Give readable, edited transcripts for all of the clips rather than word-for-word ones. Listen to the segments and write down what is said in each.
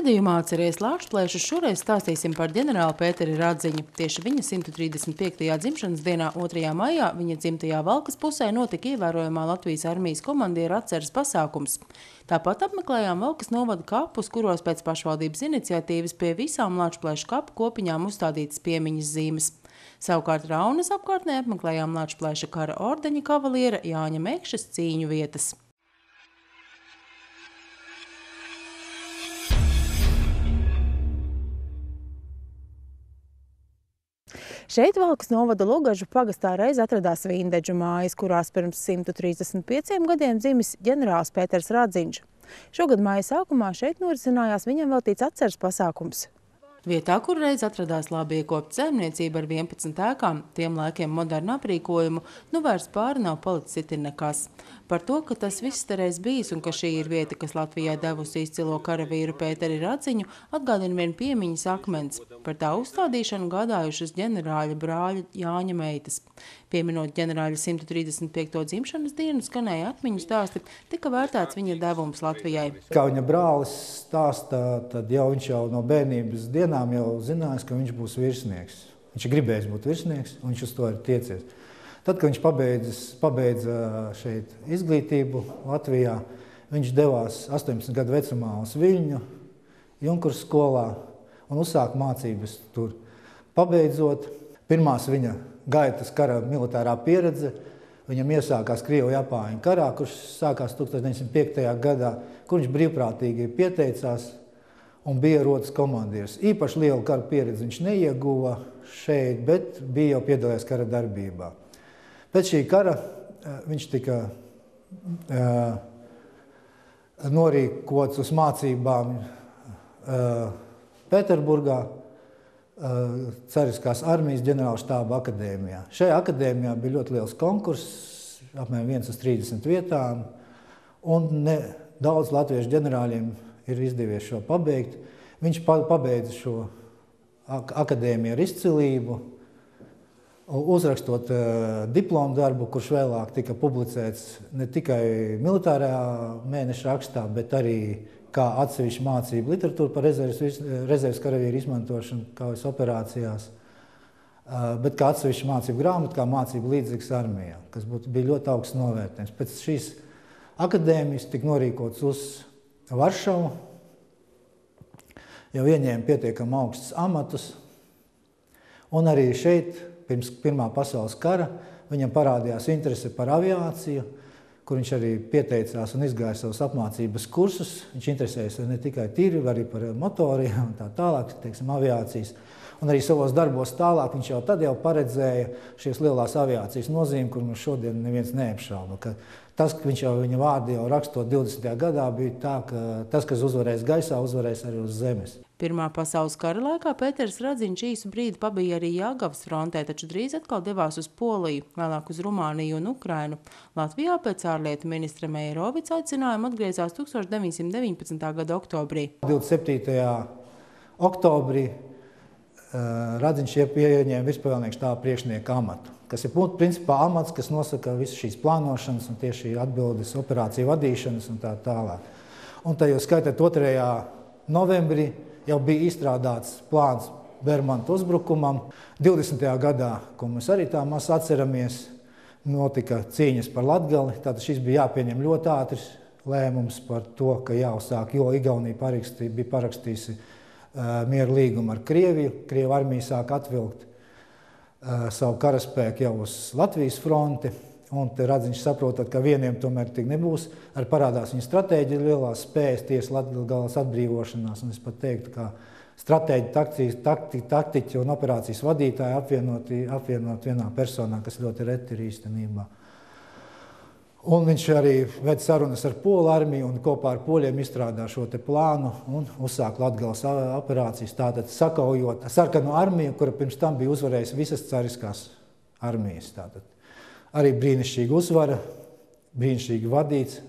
Raidījumā atceries Lāčplēšus šoreiz stāstīsim par ģenerāli Pēteri Radziņu. Tieši viņa 135. dzimšanas dienā 2. maijā viņa dzimtajā Valkas pusē notika ievērojamā Latvijas armijas komandiera atceres pasākums. Tāpat apmeklējām Valkas novada kapus, kuros pēc pašvaldības iniciatīvas pie visām Lāčplēšu kapu kopiņām uzstādītas piemiņas zīmes. Savukārt Raunas apkārtnē apmeklējām Lāčplēša kara ordeņa kavaliera Jāņa Mekšas cīņu vietas. Šeit Valkas novada Lugažu pagastā reiz atradās vindeģu mājas, kurās pirms 135 gadiem dzimis ģenerālis Pēters Radziņš. Šogad māja sākumā šeit norisinājās viņam veltīts atceres pasākums. Vietā, kur reiz atradās labi iekopta saimniecība ar 11 ēkām, tiem laikiem modernu aprīkojumu, nu vairs pāri nav palicis itin nekas. Par to, ka tas viss te reiz bijis un ka šī ir vieta, kas Latvijai devusi izcilo karavīru Pēteri Radziņu, atgādina vien piemiņas akmens. Par tā uzstādīšanu gādājušas ģenerāļa brāļa Jāņa meitas. Pieminot ģenerāļa 135. dzimšanas dienu, skanēja atmiņu stāsti, tika vērtēts viņa devums Latvijai. Kā viņa brālis stāsta, tad viņš jau no bērnības dienām jau zinājis, ka viņš būs virsnieks. Viņš gribējis būt virsnieks, un viņš uz to ir tiecies. Tad, kad viņš pabeidza šeit izglītību Latvijā, viņš devās 18 gadu vecumā uz Viļņu, Junkurs skolā un uzsāka mācības tur. Pabeidzot, pirmās viņa gaitas kara militārā pieredze, viņam iesākās Krievu-Japāņu karā, kurš sākās 1905. gadā, kur viņš brīvprātīgi pieteicās un bija rotas komandieris. Īpaši lielu kara pieredzi viņš neieguva šeit, bet bija jau piedalījies kara darbībā. Pēc šī kara viņš tika norīkots uz mācībām Pēterburgā, Cariskās armijas ģenerālštāba akadēmijā. Šajā akadēmijā bija ļoti liels konkurss, apmēram 1 uz 30 vietām, un daudz latviešu ģenerāļiem ir izdevies šo pabeigt. Viņš pabeidza šo akadēmiju ar izcilību, uzrakstot diplomu darbu, kurš vēlāk tika publicēts ne tikai militārajā mēneša rakstā, bet arī kā atsevišķa mācība literatūra par rezerves karavīru izmantošanu kaujas operācijās, bet kā atsevišķa mācība grāmata, kā mācība līdzīgs armijā, kas bija ļoti augsts novērtējums. Pēc šīs akadēmijas tika norīkots uz Varšavu, jau ieņēma pietiekami augstus amatus, un arī šeit pirms Pirmā pasaules kara viņam parādījās interese par aviāciju, kur viņš arī pieteicās un izgāja savus apmācības kursus. Viņš interesējas ne tikai tīri, arī par motoriem un tā tālāk, teiksim, aviācijas. Un arī savos darbos tālāk viņš jau tad paredzēja šīs lielās aviācijas nozīmi, kur mums šodien neviens neapšauba. Tas, ka viņš jau viņa vārdu jau rakstot 20. gadā, bija tā, ka tas, kas uzvarēs gaisā, uzvarēs arī uz zemes. Pirmā pasaules kara laikā Pēters Radziņš īsu brīdi pabija arī Jelgavas frontē, taču drīz atkal devās uz Poliju, vēlāk uz Rumāniju un Ukrainu. Latvijā pēc ārlietu ministra Meijerovica aicinājuma atgriezās 1919. gada oktobrī. 27. oktobrī Radziņš ieņēma virspavēlnieka štāba priekšnieka amatu, kas ir principā amats, kas nosaka visu šīs plānošanas un tieši atbildes operāciju vadīšanas un tā tālāk. Un tajos skaitāt 2. novembrī jau bija izstrādāts plāns Bermanta uzbrukumam. 20. gadā, ko mēs arī tā maz atceramies, notika cīņas par Latgali. Tātad šis bija jāpieņem ļoti ātrs lēmums par to, ka jāuzsāk, jo Igaunija bija parakstījusi miera līgumu ar Krieviju. Krievu armija sāk atvilkt savu karaspēku jau uz Latvijas fronti. Un te Radziņš saprotot, ka vieniem tomēr tik nebūs, arī parādās viņa stratēģija lielās spējas tieši Latgales atbrīvošanās. Un es pat teiktu, ka stratēģi, taktiķi un operācijas vadītāji apvienot vienā personā, kas ļoti reti ir īstenībā. Un viņš arī ved sarunas ar Polu armiju un kopā ar poļiem izstrādā šo te plānu un uzsāk Latgales operācijas, tātad sakaujot sarkano armiju, kura pirms tam bija uzvarējusi visas cariskās armijas. Tātad arī brīnišķīga uzvara, brīnišķīgi vadīts.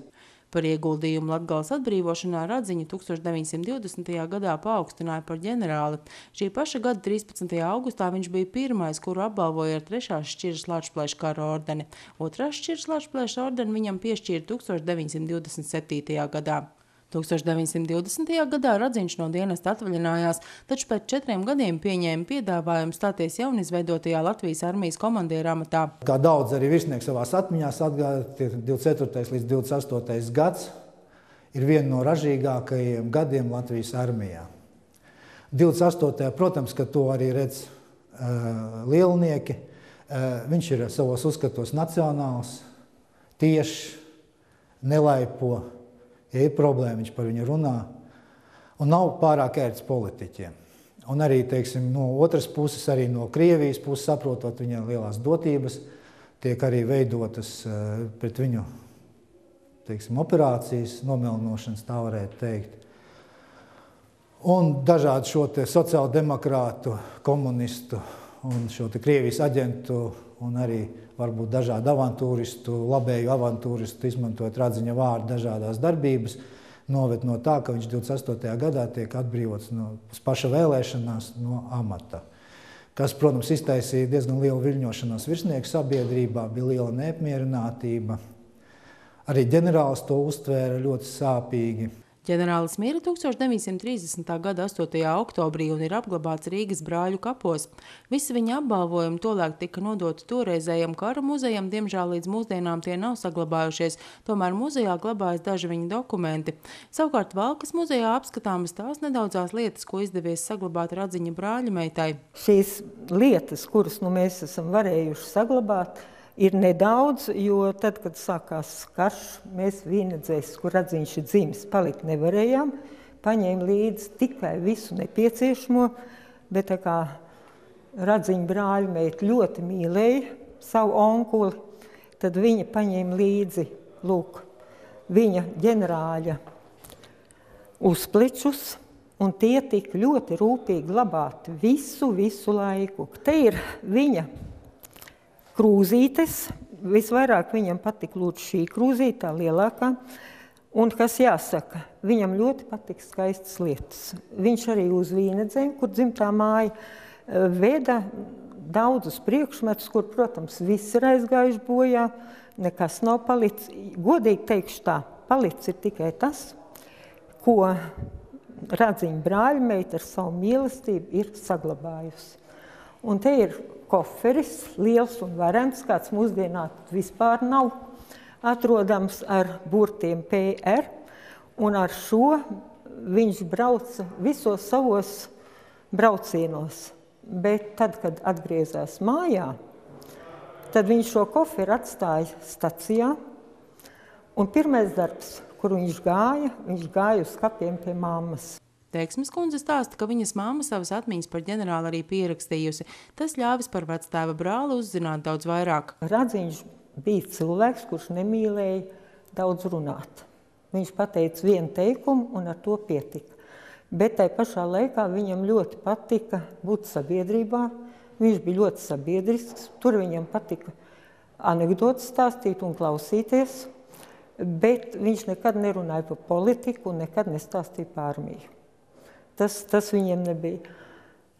Par ieguldījumu Latgales atbrīvošanā Radziņu 1920. gadā paaugstināja par ģenerāli. Šī paša gada 13. augustā viņš bija pirmais, kuru apbalvoja ar 3. šķiras Lāčplēša kara ordeni. 2. šķiras Lāčplēša ordeni viņam piešķīra 1927. gadā. 1920. gadā Radziņš no dienesta atvaļinājās, taču pēc 4 gadiem pieņēma piedāvājumu stāties jaunizveidotajā Latvijas armijas komandiera amatā. Kā daudz arī virsnieki savās atmiņās atgāja, 24. līdz 28. gads ir viena no ražīgākajiem gadiem Latvijas armijā. 28. protams, ka to arī redz lielnieki. Viņš ir savos uzskatos nacionāls, tieši, nelaipo. Ja ir problēma, viņš par viņu runā. Un nav pārāk ērts politiķiem. Un arī, teiksim, no otras puses, arī no Krievijas puses, saprotot viņa lielās dotības, tiek arī veidotas pret viņu, teiksim, operācijas, nomelnošanas, tā varētu teikt. Un dažādi šo te sociāldemokrātu, komunistu un šo te Krievijas aģentu un arī varbūt dažādu avantūristu, labēju avantūristu, izmantojot Radziņa vārdu dažādās darbības, noved no tā, ka viņš 28. gadā tiek atbrīvots no paša vēlēšanās no amata. Kas, protams, iztaisīja diezgan lielu viļņošanos virsnieku sabiedrībā, bija liela neapmierinātība. Arī ģenerālis to uztvēra ļoti sāpīgi. Ģenerālis mira 1930. gada 8. oktobrī un ir apglabāts Rīgas brāļu kapos. Visi viņa apbalvojumi tolaik tika nodoti toreizējam kara muzejam, diemžēl līdz mūsdienām tie nav saglabājušies, tomēr muzejā glabājas daži viņa dokumenti. Savukārt Valkas muzejā apskatāmas tās nedaudzās lietas, ko izdevies saglabāt Radziņa brāļa meitai. Šīs lietas, kuras mēs esam varējuši saglabāt, ir nedaudz, jo tad, kad sākās karš, mēs Vīnedzēs, kur Radziņš ir dzimis, palikt nevarējām, paņēma līdzi tikai visu nepieciešamo, bet tā kā Radziņa brāļa meita ļoti mīlēja savu onkuli, tad viņa paņēma līdzi, lūk, viņa ģenerāļa uzplečus, un tie tika ļoti rūpīgi glabāti visu laiku. Te ir viņa krūzītes, visvairāk viņam patika lūdzu šī krūzīte, tā lielākā, un kas jāsaka, viņam ļoti patika skaistas lietas. Viņš arī uz Vīnedzēm, kur dzimtā māja, veda daudzus priekšmetus, kur, protams, viss ir aizgājuši bojā, nekas nav palicis. Godīgi teikšu tā, palicis ir tikai tas, ko Radziņa brāļmeita ar savu mīlestību ir saglabājusi. Un te ir koferis, liels un varens, kāds mūsdienā vispār nav atrodams ar burtiem PR, un ar šo viņš brauca visos savos braucienos. Bet tad, kad atgriezās mājā, tad viņš šo koferi atstāja stacijā, un pirmais darbs, kur viņš gāja uz kapiem pie mammas. Teiksmes kundze stāsta, ka viņas mamma savas atmiņas par ģenerāli arī pierakstījusi. Tas ļāvis par vectēva brāli uzzināt daudz vairāk. Radziņš bija cilvēks, kurš nemīlēja daudz runāt. Viņš pateica vienu teikumu un ar to pietika. Bet tai pašā laikā viņam ļoti patika būt sabiedrībā. Viņš bija ļoti sabiedrisks. Tur viņam patika anekdotas stāstīt un klausīties. Bet viņš nekad nerunāja par politiku un nekad nestāstīja par armiju. Tas viņam nebija.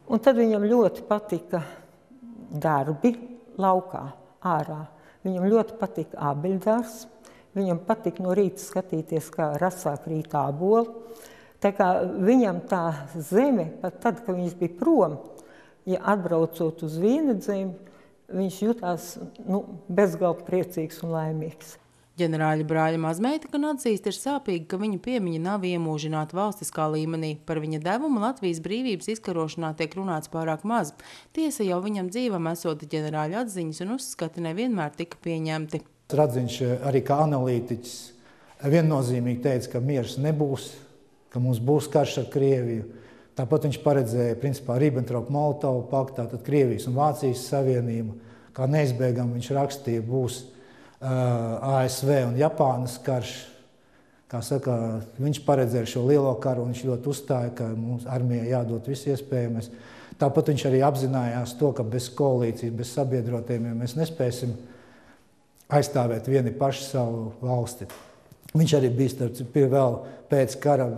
Un tad viņam ļoti patika darbi laukā, ārā. Viņam ļoti patika ābeļdārs. Viņam patika no rīta skatīties, kā rasāk rīt āboli. Tā kā viņam tā zeme, pat tad, kad viņš bija prom, ja atbraucot uz Vīnedzēm, viņš jutās bezgalīgi priecīgs un laimīgs. Ģenerāļa brāļa mazmeita gan atzīst, ir sāpīgi, ka viņa piemiņa nav iemūžināta valstiskā līmenī. Par viņa devumu Latvijas brīvības izkarošanā tiek runāts pārāk maz. Tiesa jau viņam dzīvam esot ģenerāļa atziņas un uzskati nevienmēr tika pieņemti. Radziņš arī kā analītiķis viennozīmīgi teica, ka miers nebūs, ka mums būs karš ar Krieviju. Tāpat viņš paredzēja, principā, Ribbentrop-Molotovu paktā, tad Krievijas un Vācijas savienību. Kā neizbēgam viņš rakstīja, būs ASV un Japānas karš. Kā saka, viņš paredzēja šo lielo karu un viņš ļoti uzstāja, ka mums armijai jādod viss iespējamais. Tāpat viņš arī apzinājās to, ka bez koalīcijas, bez sabiedrotiem mēs nespēsim aizstāvēt vieni paši savu valsti. Viņš arī bija vēl pēc kara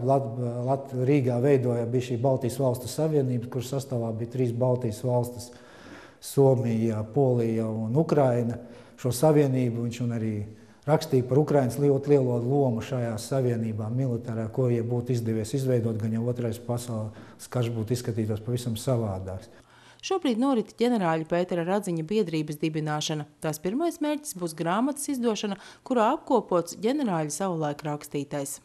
Rīgā bija šī Baltijas valstu savienība, kur sastāvā bija 3 Baltijas valstis – Somija, Polija un Ukraina. Šo savienību viņš un arī rakstīja par Ukrainas ļoti lielo lomu šajā savienībā militārā, ko, ja būtu izdevies izveidot, gan jau otrais pasaules karš būtu izskatītos pavisam savādāks. Šobrīd norit ģenerāļa Pētera Radziņa biedrības dibināšana. Tās pirmais mērķis būs grāmatas izdošana, kurā apkopots ģenerāļa savulaik rakstītais.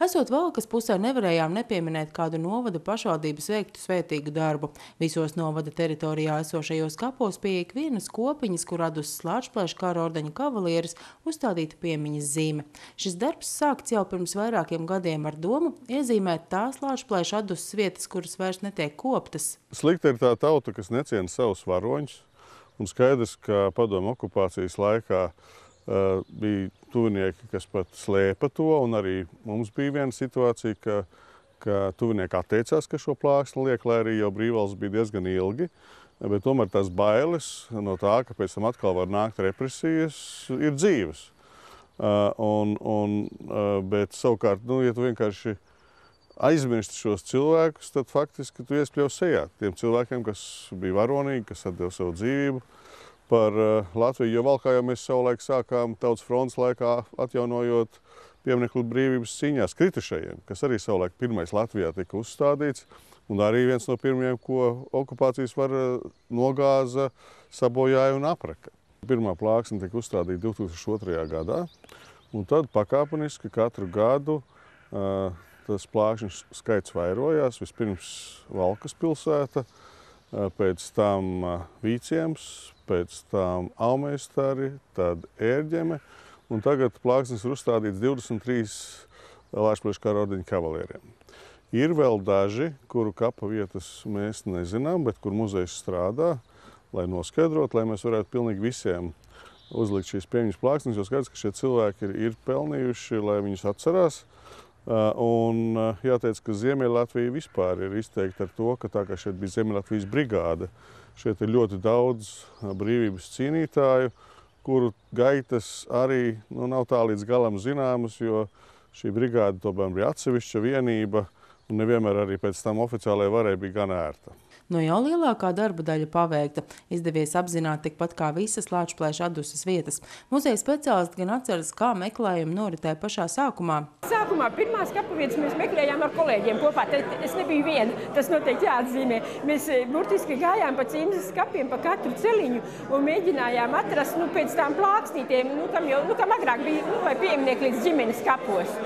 Esot Valkas pusē, nevarējām nepieminēt kādu novada pašvaldības veiktu svētīgu darbu. Visos novada teritorijā esošajos kapos pie ikvienas kopiņas, kur radusi Lāčplēša kara ordeņa kavalieris, uzstādīta piemiņas zīme. Šis darbs sākts jau pirms vairākiem gadiem ar domu iezīmēt tās Lāčplēša atduses vietas, kuras vairs netiek koptas. Slikta ir tā tauta, kas neciena savus varoņus, un skaidrs, ka padomu okupācijas laikā bija tuvinieki, kas pat slēpa to, un arī mums bija viena situācija, ka tuvinieki atteicās, ka šo plāksni liek, lai arī jau brīvvalsts bija diezgan ilgi, bet tomēr tās bailes no tā, ka pēc tam atkal var nākt represijas, ir dzīves. Bet savukārt, ja tu vienkārši aizmirsti šos cilvēkus, tad faktiski tu iespļauj sejā tiem cilvēkiem, kas bija varonīgi, kas atdeva savu dzīvību par Latviju, jo Valkā jau mēs savulaik sākām Tautas frontes laikā atjaunojot pieminekli brīvības cīņās kritušajiem, kas arī savulaik pirmais Latvijā tika uzstādīts, un arī viens no pirmajiem, ko okupācijas vara nogāza, sabojāja un apraka. Pirmā plāksne tika uzstādīta 2002. gadā, un tad pakāpeniski katru gadu tas plākšņu skaits vairojās. Vispirms Valkas pilsēta, pēc tam Vīciems, pēc tam Aumeistari, tad Ērģeme, un tagad plāksnes ir uzstādīts 23 Lāčplēša kara ordeņa kavalieriem. Ir vēl daži, kuru kapa vietas mēs nezinām, bet kur muzejs strādā, lai noskaidrot, lai mēs varētu pilnīgi visiem uzlikt šīs piemiņas plāksnes, jo skaidrs, ka šie cilvēki ir pelnījuši, lai viņus atcerās. Un jāteic, ka Ziemeļlatvija vispār ir izteikta ar to, ka tā kā šeit bija Ziemeļlatvijas brigāde, šeit ir ļoti daudz brīvības cīnītāju, kuru gaitas arī nav tā līdz galam zināmas, jo šī brigāde tomēr bija atsevišķa vienība, un nevienmēr arī pēc tam oficiālajai varai bija gan ērta. No jau lielākā darba daļa paveikta. Izdevies apzināt tikpat kā visas Lāčplēša atduses vietas. Muzeja speciālisti gan atceras, kā meklējumi noritēja pašā sākumā. Sākumā pirmās kapavietas mēs meklējām ar kolēģiem kopā. Es nebiju viena, tas noteikti jāatzīmē. Mēs burtiski gājām pa cīmzes kapiem, pa katru celiņu un mēģinājām atrast pēc tām plāksnītiem, kam agrāk bija vai pieminieki līdz ģimenes kapos.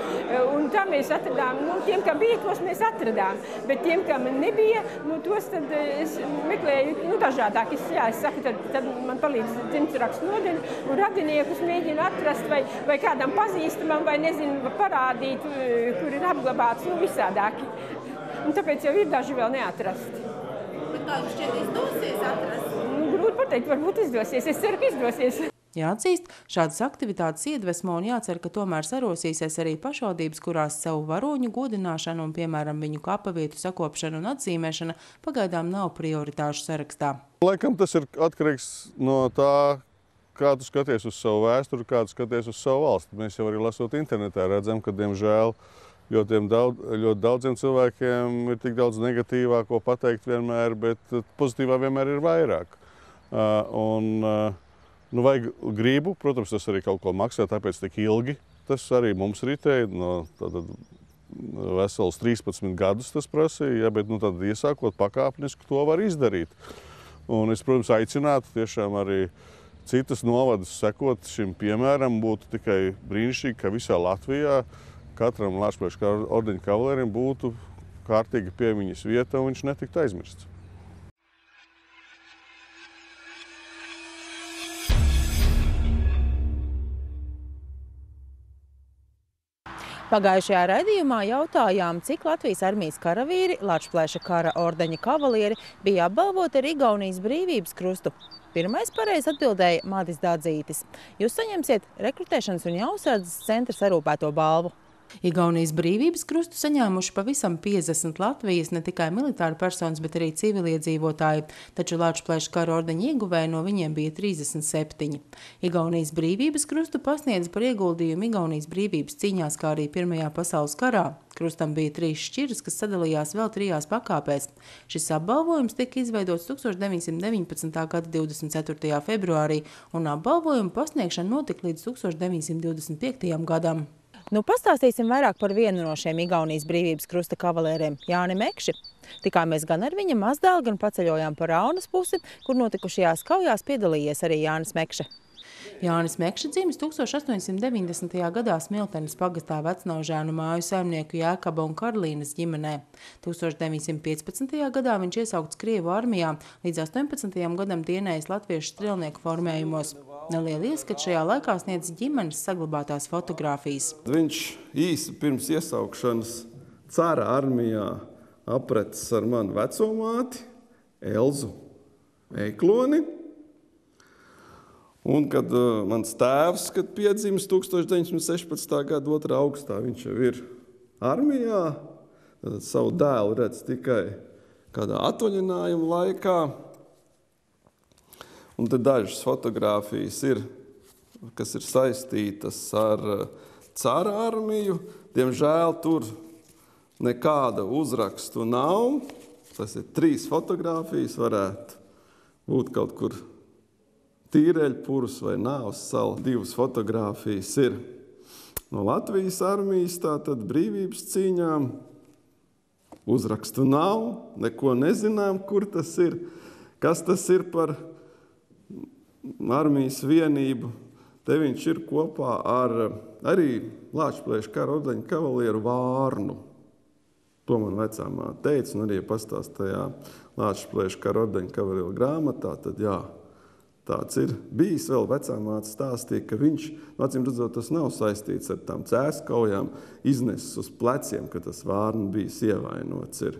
Un tā mēs atradām, tiem, kam bija, tos mēs atradām, bet tiem, kam nebija, tos tad es meklēju dažādāk. Es saku, tad man palīdz dzimtsrakstu nodeļa un radiniekus mēģinu atrast vai kādam pazīstamam vai nezinu parādīt, kur ir apglabāts, visādāki. Un tāpēc jau ir daži vēl neatrasti. Bet kā jums šķiet izdosies atrast? Grūti pateikt, varbūt izdosies. Es ceru, ka izdosies. Jāatzīst, šādas aktivitātes iedvesmo un jācer, ka tomēr sarosīsies arī pašvaldības, kurās savu varoņu godināšanu un, piemēram, viņu kapavietu sakopšanu un atzīmēšana pagaidām nav prioritāšu sarakstā. Laikam tas ir atkarīgs no tā, kā tu skaties uz savu vēsturi, kā tu skaties uz savu valsti. Mēs jau arī lasot internetā redzam, ka, diemžēl, ļoti daudziem cilvēkiem ir tik daudz negatīvā, ko pateikt vienmēr, bet pozitīvā vienmēr ir vairāk. Vajag gribu, protams, tas arī kaut ko maksā, tāpēc tik ilgi. Tas arī mums ritēja, vesels 13 gadus tas prasīja, bet tad iesākot pakāpeniski to var izdarīt. Un es, protams, aicinātu tiešām arī citas novadus sekot šim piemēram, būtu tikai brīnišķīgi, ka visā Latvijā katram Lāčplēša ordeņa kavalierim būtu kārtīga piemiņas vieta un viņš netiktu aizmirsts. Pagājušajā raidījumā jautājām, cik Latvijas armijas karavīri, Lāčplēša kara ordeņa kavalieri, bija apbalvoti ar Igaunijas brīvības krustu. Pirmais pareizi atbildēja Madis Dādzītis. Jūs saņemsiet rekrutēšanas un jausardzes centra sarūpēto balvu. Igaunijas brīvības krustu saņēmuši pavisam 50 Latvijas ne tikai militāri personas, bet arī civiliedzīvotāji, taču Lāčplēša kara ordeņa ieguvēji no viņiem bija 37. Igaunijas brīvības krustu pasniedz par ieguldījumu Igaunijas brīvības cīņās, kā arī Pirmajā pasaules karā. Krustam bija 3 šķiras, kas sadalījās vēl 3 pakāpēs. Šis apbalvojums tika izveidots 1919. gada 24. februārī, un apbalvojuma pasniegšana notika līdz 1925. gadam. Nu, pastāstīsim vairāk par vienu no šiem Igaunijas brīvības krusta kavalēriem, Jāni Mekši. Tikāmies gan ar viņa mazdēlu, gan paceļojām par Raunas pusi, kur notikušajās kaujās piedalījies arī Jānis Mekša. Jānis Mekša dzimis 1890. gadā Smiltenes pagastā Vecnaužēnu māju saimnieku Jēkaba un Karlīnas ģimenē. 1915. gadā viņš iesaukts Krievu armijā, līdz 18. gadam dienējis latviešu strelnieku formējumos. Neliela ieskats šajā laikā sniedz ģimenes saglabātās fotogrāfijas. Viņš īsi pirms iesaukšanas cara armijā aprecis ar manu vecomāti Elzu Eikloni. Un kad mans tēvs, kad piedzimis 1916. gada 2. augustā, viņš jau ir armijā, tad savu dēlu redz tikai kādā atvaļinājuma laikā. Un tad dažas fotogrāfijas ir, kas ir saistītas ar cara armiju. Diemžēl tur nekāda uzrakstu nav. Tas ir 3 fotogrāfijas, varētu būt kaut kur Tīreļpurs vai Nāvas sala. 2 fotogrāfijas ir no Latvijas armijas, tātad brīvības cīņām. Uzrakstu nav, neko nezinām, kur tas ir, kas tas ir par armijas vienību. Te viņš ir kopā ar arī Lāčplēša kara ordeņa kavalieru Vārnu. To man vecāmā teica, un arī pastāstajā Lāčplēša kara ordeņa kavalieru grāmatā, tad jā. Tāds ir bijis vēl vecāmāte stāstīja, ka viņš, acīm redzot, tas nav saistīts ar tām cēskaujām, iznesis uz pleciem, ka tas Vārnu bijis ievainots ir.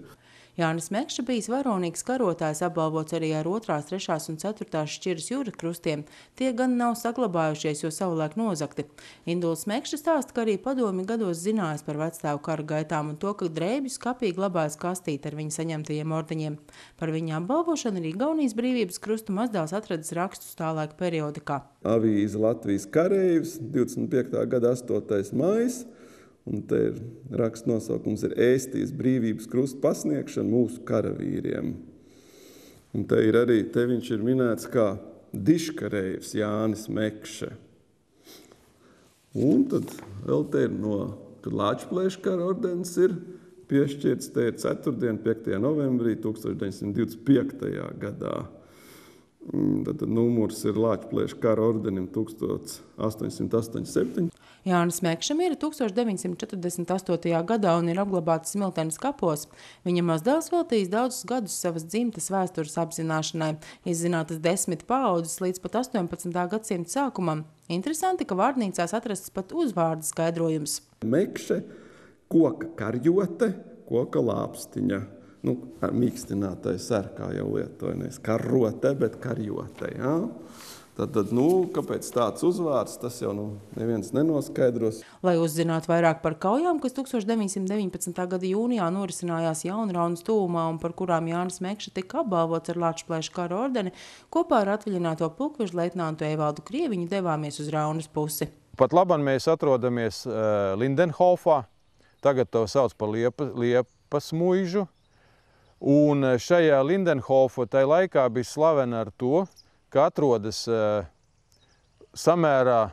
Jānis Mekša bijis varonīgs karotājs, apbalvots arī ar 2., 3. un 4. šķiras jūra krustiem. Tie gan nav saglabājušies, jo savulaik nozakti. Induls Mekša stāsta, ka arī padomju gados zinājis par vecstāvu kara gaitām un to, ka drēbju skapī glabājas kastīte ar viņa saņemtajiem ordeņiem. Par viņa apbalvošanu arī Igaunijas brīvības krustu mazdēls atradis rakstus tā laika periodikā. Avīze Latvijas kareivs, 25. gada 8. maijs. Un te ir raksts nosaukums ir Ēstijas brīvības krusta pasniegšana mūsu karavīriem. Un te ir arī, te viņš ir minēts kā diškareivs Jānis Mekša. Un tad vēl te ir kad Lāčplēša kara ordenis ir piešķirts, te ir 4. 5. novembrī 1925. gadā. Tad numurs ir Lāčplēša kara ordenim 1887. Jānis Mekša mira 1948. gadā un ir apglabāts Smiltenes kapos. Viņa mazdēls veltījis daudzus gadus savas dzimtes vēstures apzināšanai, izzinātas 10 paaudzes līdz pat 18. gadsimta sākumam. Interesanti, ka vārnīcās atrasts pat uzvārda skaidrojums. Mekše, koka karjote, koka lāpstiņa. Ar mīkstinātai ser, kā jau lietoja, nevis karote, bet karjote, jā. Tad, kāpēc tāds uzvārds, tas jau neviens nenoskaidros. Lai uzzinātu vairāk par kaujām, kas 1919. gada jūnijā norisinājās Jaunraunas tuvumā un par kurām Jānis Mekša tika apbalvots ar Lāčplēša kara ordeni, kopā ar atvaļināto pulkveža leitnantu Evaldu Krieviņu devāmies uz Raunas pusi. Pat labam mēs atrodamies Lindenhofā, tagad to sauc par Liepas muižu, un šajā Lindenhofa tai laikā bija slavena ar to, ka atrodas samērā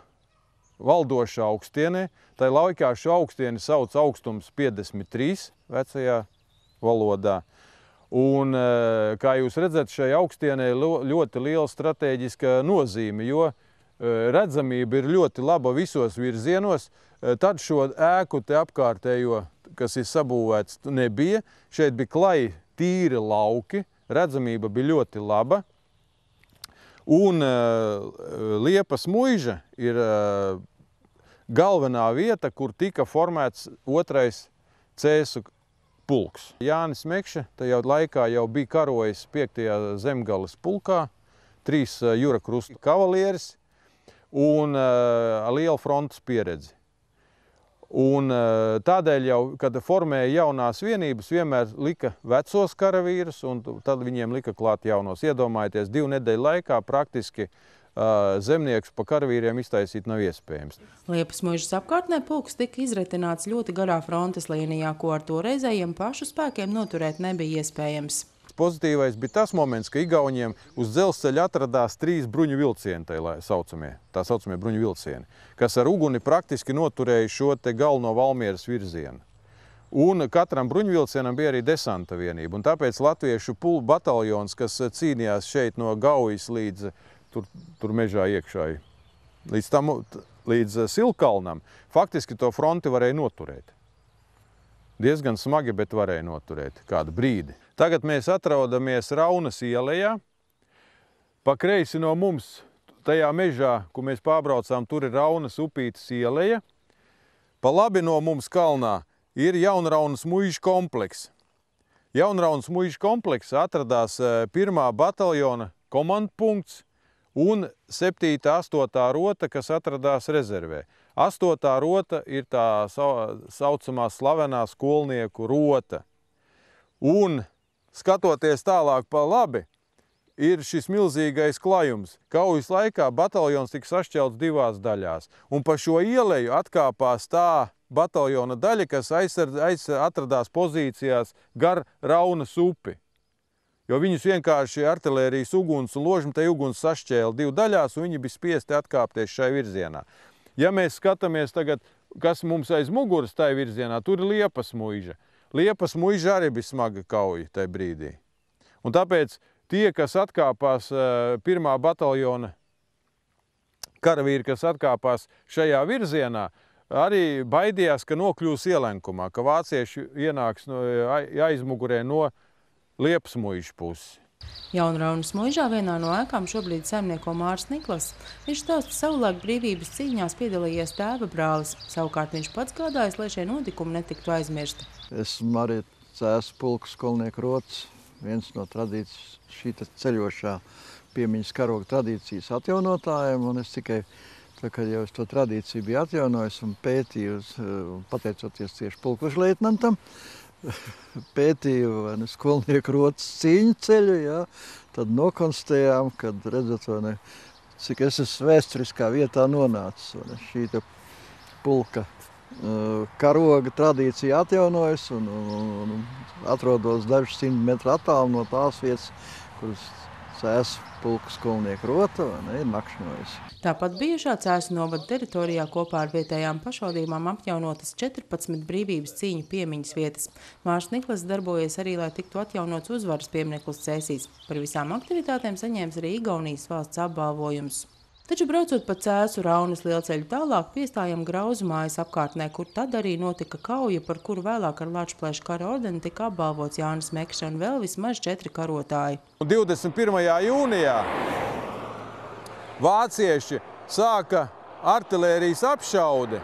valdošā augstienē. Tai laikā šo augstieni sauc augstums 53 vecajā valodā. Un, kā jūs redzat, šai augstienē ļoti liela strateģiska nozīme, jo redzamība ir ļoti laba visos virzienos. Tad šo ēku te apkārtējo, kas ir sabūvēts, nebija. Šeit bija klai tīri lauki, redzamība bija ļoti laba. Un Liepas muiža ir galvenā vieta, kur tika formēts 2. cēsu pulks. Jānis Mekša tajā laikā jau bija karojis 5. zemgales pulkā, 3 jūra krusta kavalieris un liela frontes pieredzi. Un tādēļ jau, kad formēja jaunās vienības, vienmēr lika vecos karavīrus, un tad viņiem lika klāt jaunos. Iedomājieties, 2 nedēļu laikā praktiski zemniekus pa karavīriem iztaisīt nav iespējams. Liepas muižas apkārtnē pulks tika izretināts ļoti garā frontes līnijā, ko ar toreizējiem pašu spēkiem noturēt nebija iespējams. Pozitīvais bija tas moments, ka Igauniem uz dzelzceļa atradās 3 bruņu vilcieni, tā saucamie bruņu vilcieni, kas ar uguni praktiski noturēja šo te galveno Valmieras virzienu. Un katram bruņvilcienam bija arī desanta vienība. Un tāpēc latviešu bataljons, kas cīnījās šeit no Gaujas līdz tur mežā iekšā, līdz Silkalnam, faktiski to fronti varēja noturēt. Diezgan smagi, bet varēja noturēt kādu brīdi. Tagad mēs atrodamies Raunas ielejā. Pa kreisi no mums, tajā mežā, ko mēs pārbraucām, tur ir Raunas upītes ieleja. Pa labi no mums kalnā ir Jaunraunas muižu komplekss. Jaunraunas muižu kompleksā atradās 1. bataljona komandpunkts un 7. 8. rota, kas atradās rezervē. 8. rota ir tā saucamā slavenā skolnieku rota. Un skatoties tālāk pa labi, ir šis milzīgais klajums. Kaujas laikā bataljons tika sašķelts 2 daļās. Un pa šo ieleju atkāpās tā bataljona daļa, kas atradās pozīcijās gar Raunas upi. Jo viņus vienkārši artilērijas uguns un ložmetēju uguns sašķēla 2 daļās, un viņi bija spiesti atkāpties šai virzienā. Ja mēs skatāmies tagad, kas mums aiz muguras tai virzienā, tur ir Liepas muiža. Liepas muiža arī bija smaga kauja tajā brīdī. Un tāpēc tie, kas atkāpās 1. bataljona karavīri, kas atkāpās šajā virzienā, arī baidījās, ka nokļūs ielenkumā, ka vācieši ienāks aizmugurē no Liepas muižas puses. Jaunraunas muižā vienā no ēkām šobrīd saimnieko Mārs Niklas. Viņš stāsta, savulaik brīvības cīņās piedalījies tēva brālis. Savukārt viņš pats gādājis, lai šie notikumi netiktu aizmirsti. Esmu arī Cēsu pulka skolnieku rots, viens no tradīcijas šī ceļošā piemiņas karoga tradīcijas atjaunotājiem, un es tikai kad jau es to tradīciju biju atjaunojis un pētīju, pateicoties tieši pulkvežleitnantam, pētīju skolnieku rotas cīņu ceļu, tad nokonstatējām, kad redzat, cik es esmu vēsturiskā vietā nonācis. Šī pulka karoga tradīcija atjaunojas un atrodos dažus 100 metru attālu no tās vietas, kuras Cēsu pulka skolnieku rota ir nakšņojusi. Tāpat bijušā Cēsu novada teritorijā kopā ar vietējām pašvaldībām apjaunotas 14 brīvības cīņu piemiņas vietas. Mārs Niklas darbojies arī, lai tiktu atjaunots uzvaras piemineklis Cēsīs. Par visām aktivitātēm saņēmis arī Igaunijas valsts apbalvojums. Taču braucot pa Cēsu Raunas lielceļu tālāk, piestājam Grauzu mājas apkārtnē, kur tad arī notika kauja, par kuru vēlāk ar Lačplēša kara ordeni tika apbalvots Jānis Mekša un vēl vismaz 4 karotāji. 21. jūnijā vācieši sāka artilērijas apšaudi,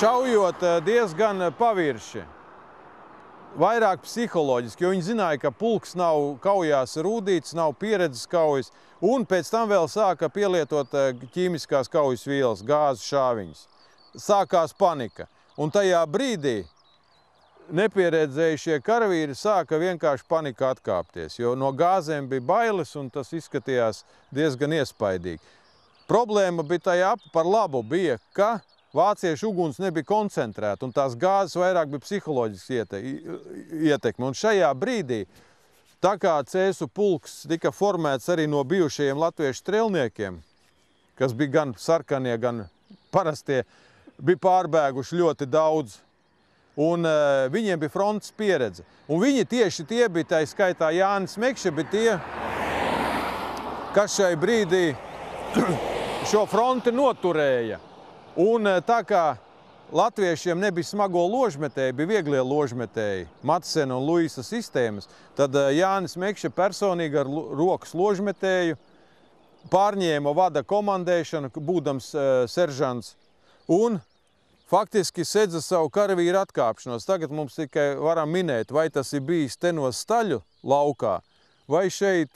šaujot diezgan pavirši. Vairāk psiholoģiski, jo viņi zināja, ka pulks nav kaujās rūdīts, nav pieredzes kaujas, un pēc tam vēl sāka pielietot ķīmiskās kaujas vielas, gāzes šāviņas. Sākās panika, un tajā brīdī nepieredzējušie karavīri sāka vienkārši panika atkāpties, jo no gāzēm bija bailes, un tas izskatījās diezgan iespaidīgi. Problēma bija tajā par labu bija, ka vāciešu uguns nebija koncentrēta, un tās gāzes vairāk bija psiholoģisks ietekme. Un šajā brīdī, tā kā Cēsu pulks tika formēts arī no bijušajiem latviešu strelniekiem, kas bija gan sarkanie, gan parastie, bija pārbēguši ļoti daudz. Un viņiem bija frontes pieredze. Un viņi tieši tie bija, tā skaitā Jānis Mekša, bija tie, kas šai brīdī šo fronti noturēja. Un tā kā latviešiem nebija smago ložmetēji, bija vieglie ložmetēji, Matsena un Luisa sistēmas, tad Jānis Mekša personīgi ar rokas ložmetēju pārņēma vada komandēšanu, būdams seržants, un faktiski sedza savu karavīru atkāpšanos. Tagad mums tikai varam minēt, vai tas ir bijis te no Staļu laukā, vai šeit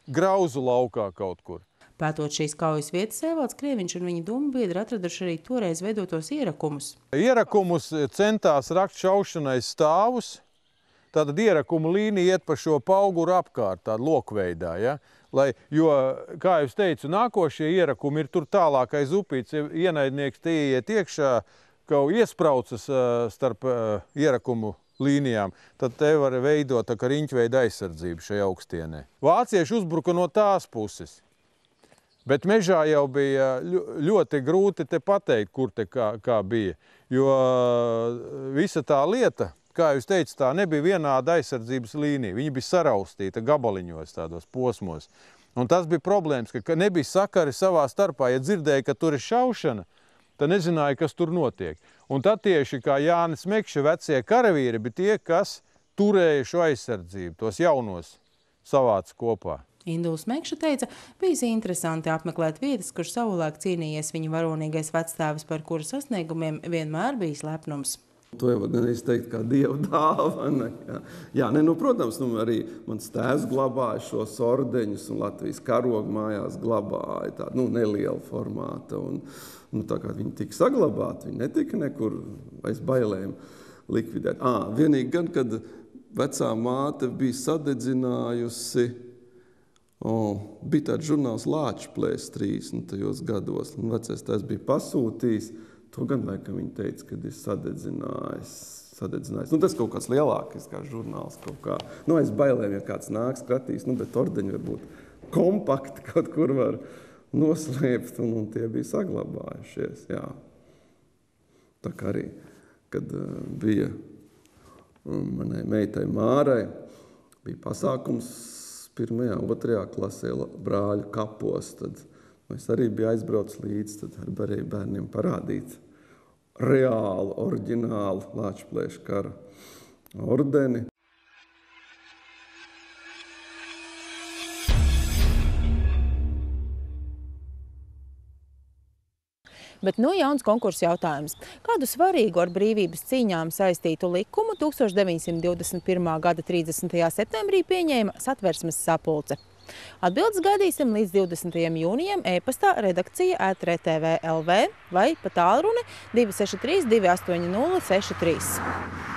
Grauzu laukā kaut kur. Pētot šīs kaujas vietas, Evalds Krieviņš un viņa domu biedri atraduši arī toreiz veidotos ierakumus. Ierakumus centās rakt šaušanai stāvus. Tātad ierakumu līnija iet pa šo pauguru apkārt, tāda lokveidā. Ja? Jo, kā jūs teicu, nākošie ierakumi ir tur tālāk aiz upītes, ja ienaidnieks te ieiet iekšā, kaut iespraucas starp ierakumu līnijām, tad te var veidot tā kā riņķveida aizsardzību šajā augstienē. Vācieši uzbruka no tās puses. Bet mežā jau bija ļoti grūti te pateikt, kur te kā bija. Jo visa tā lieta, kā jūs teicat, tā nebija vienāda aizsardzības līnija. Viņa bija saraustīta gabaliņos, tādos posmos. Un tas bija problēmas, ka nebija sakari savā starpā. Ja dzirdēja, ka tur ir šaušana, tad nezināja, kas tur notiek. Un tad tieši kā Jānis Mekša vecie karavīri bija tie, kas turēja šo aizsardzību, tos jaunos savāca kopā. Induls Mekša teica, bijis interesanti apmeklēt vietas, kur savulaik cīnījies viņa varonīgais vecstāvis, par kuru sasniegumiem vienmēr bijis lepnums. To jau gan es teiktu kā dieva dāvana. Jā, protams, arī mans tēvs glabāja šos ordeņus un Latvijas karogu mājās glabāja tādu nelielu formātu. Un tā kā viņi tika saglabāti, viņi netika nekur aiz bailēm likvidēt. Vienīgi gan, kad vecā māte bija sadedzinājusi, bija tāds žurnāls Lāčplēs 30. gados, un vecais tās bija pasūtījis. To gan laikam viņi teica, kad ir sadedzinājis. Tas kaut kāds lielākais kā žurnāls kaut kā. Aiz bailēm, ja kāds nāk skratīs, bet ordeņi varbūt kompakti kaut kur var noslēpt, un tie bija saglabājušies, jā. Tā kā arī, kad bija manai meitai Mārai, bija pasākums 1. un 2. klasē brāļu kapos, tad es arī biju aizbraucis līdzi, tad arī varēju bērniem parādīt reālu, oriģinālu Lāčplēša kara ordeni. Bet jauns konkursa jautājums. Kādu svarīgu ar brīvības cīņām saistītu likumu 1921. gada 30. septembrī pieņēma Satversmes sapulce? Atbildes gaidīsim līdz 20. jūnijam e-pastā redakcija@RTV.lv vai pa tālruni 263 280 63.